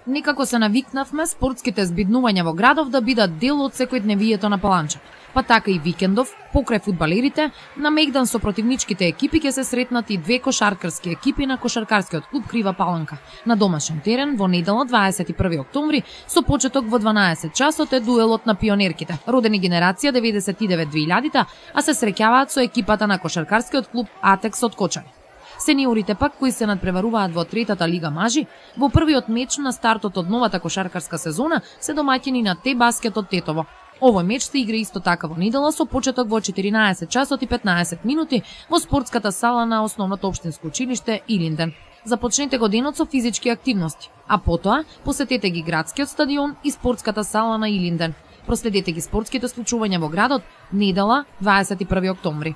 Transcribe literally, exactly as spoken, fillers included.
Некако се навикнавме спортските збиднувања во градов да бидат дел од секојдневието на Паланча. Па така и викендов, покрај фудбалерите, на меѓдан со противничките екипи ќе се сретнат и две кошаркарски екипи на кошаркарскиот клуб Крива Паланка. На домашен терен во недела дваесет и први октомври со почеток во дванаесет часот е дуелот на пионерките, родени генерација деветдесет и девет двеилјадите, а се среќаваат со екипата на кошаркарскиот клуб Атекс од Кочани. Сениорите пак, кои се надпреваруваат во третата лига мажи, во првиот меч на стартот од новата кошаркарска сезона се домаќини на Те Баскет од Тетово. Овој меч се игра исто така во недела со почеток во четиринаесет часот и петнаесет минути во спортската сала на основното општинско училиште Илинден. Започнете го денот со физички активности, а потоа посетете ги градскиот стадион и спортската сала на Илинден. Проследете ги спортските случувања во градот недела дваесет и први октомври.